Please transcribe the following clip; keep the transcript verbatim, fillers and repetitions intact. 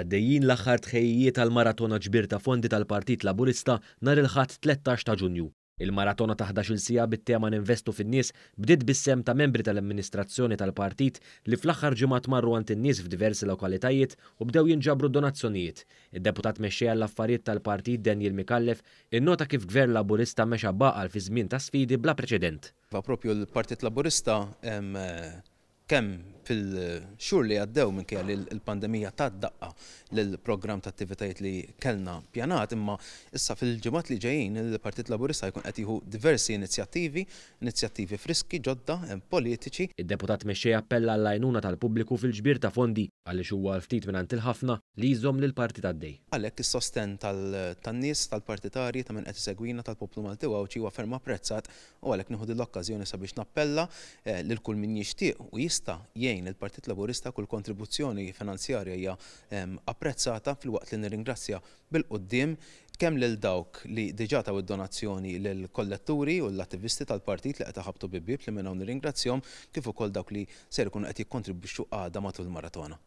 Għaddejjin l-aħħar tħejjijiet għall-maratona ġbir ta' fondi tal-Partit Laburista nhar il-Ħadd tlettax ta' Ġunju. Il-maratona ta' ħdax-il siegħa bit-tema Ninvestu fin-nies bdiet bis-sehem ta' membri tal-amministrazzjoni tal-partit li fl-aħħar ġimgħat marru għand in-nies f'diversi lokalitajiet u bdew jinġabru donazzjonijiet. Id-deputat mexxej għall-affarijiet tal-partit Daniel Micallef innota kif Gvern Laburista mexa b'għaqal fi żmien ta' sfidi bla preċedent. Propju l-Partit Laburista kemm fil-xhur li għaddew minkejja li l-pandemija tat daqqa lill-programm ta' attivitajiet li kellna pjanat, imma issa fil-ġimgħat li ġejjin il-Partit Laburista jkun qed jieħu diversi inizjattivi, inizjattivi friski ġodda politiċi. Id-deputat mexxej appella għall-għajnuna tal-pubbliku fil-ġbir ta' fondi għaliex huwa l-ftit mingħand il-ħafna li jżomm lill-partit għaddej. Għalhekk is-sostenn tan-nies, tal-partitarji, ta' min qed isegwina, tal-poplu Malti u Għawdxi huwa ferm apprezzat u għalhekk nieħu din l-okkażjoni sabiex nappella lil kull min jixtieq u jista' jgħin il-Partit Laburista. Kull kontribuzzjoni finanzjarja hija apprezzata, filwaqt li nirringrazzja bil-quddiem kemm lil dawk li diġà taw id-donazzjoni lill-kolletturi u l-attivisti tal-partit li qed iħabbtu bieb bieb li minn hawn nirringrazzjahom, kif ukoll dawk li ser ikunu qed jikkontribwixxu għada matul il-maratona.